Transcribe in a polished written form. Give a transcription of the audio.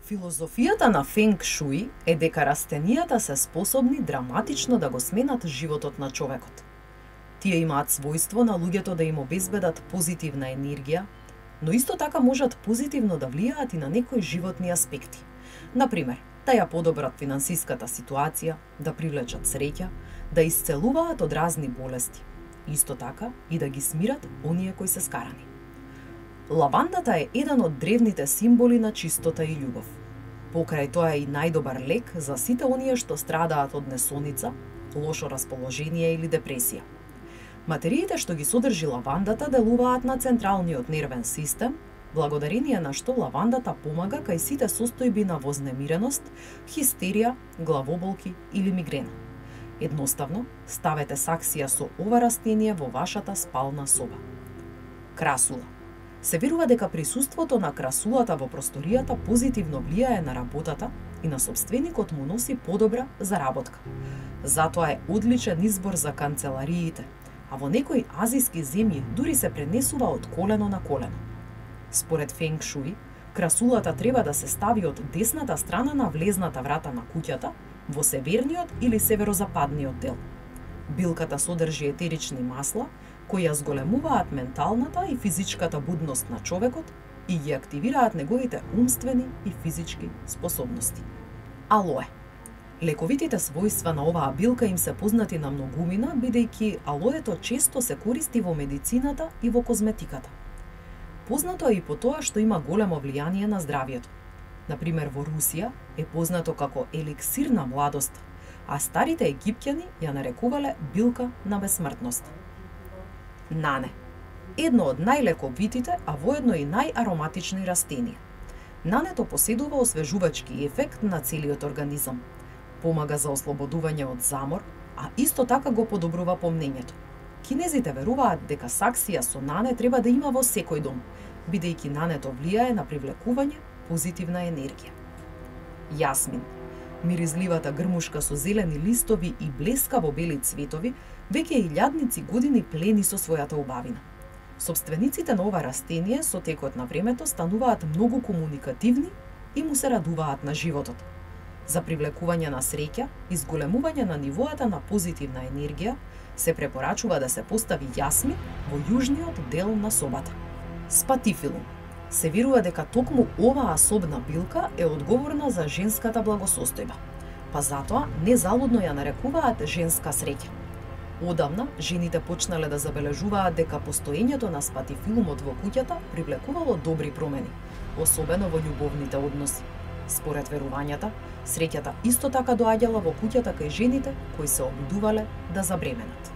Филозофијата на Фенг Шуи е дека растенијата се способни драматично да го сменат животот на човекот. Тие имаат својство на луѓето да им обезбедат позитивна енергија, но исто така можат позитивно да влијаат и на некои животни аспекти. Например, да ја подобрат финансиската ситуација, да привлечат среќа, да исцелуваат од разни болести. Исто така и да ги смират оние кои се скарани. Лавандата е еден од древните символи на чистота и љубов. Покрај тоа е и најдобар лек за сите оние што страдаат од несоница, лошо расположение или депресија. Материите што ги содржи лавандата делуваат на централниот нервен систем, благодарение на што лавандата помага кај сите состојби на вознемиреност, хистерија, главоболки или мигрена. Едноставно, ставете саксија со ова растение во вашата спална соба. Красула. Се верува дека присуството на красулата во просторијата позитивно влијае на работата и на собственикот му носи подобра заработка. Затоа е одличен избор за канцелариите, а во некои азиски земји дури се пренесува од колено на колено. Според Фенг Шуи, красулата треба да се стави од десната страна на влезната врата на куќата, во северниот или северозападниот дел. Билката содржи етерични масла, кои ја зголемуваат менталната и физичката будност на човекот и ги активираат неговите умствени и физички способности. Алоe. Лековитите својства на оваа билка им се познати на многумина, бидејќи алоето често се користи во медицината и во козметиката. Познато е и по тоа што има големо влијание на здравјето. Например, во Русија е познато како еликсир на младост, а старите египтјани ја нарекувале билка на бесмртност. Нане. Едно од најлековитите, а воедно и најароматични растенија. Нането поседува освежувачки ефект на целиот организам. Помага за ослободување од замор, а исто така го подобрува помнењето. Кинезите веруваат дека саксија со нане треба да има во секој дом, бидејќи нането влијае на привлекување позитивна енергија. Јасмин. Миризливата грмушка со зелени листови и блескаво бели цветови веќе илјадници години плени со својата убавина. Собствениците на ова растение со текот на времето стануваат многу комуникативни и му се радуваат на животот. За привлекување на среќа и зголемување на нивоата на позитивна енергија се препорачува да се постави јасмин во јужниот дел на собата. Спатифилум. Се верува дека токму оваа особна билка е одговорна за женската благосостојба, па затоа незалудно ја нарекуваат женска среќа. Одамна, жените почнале да забележуваат дека постоењето на спатифилумот во куќата привлекувало добри промени, особено во љубовните односи. Според верувањата, среќата исто така доаѓала во куќата кај жените кои се обидувале да забременат.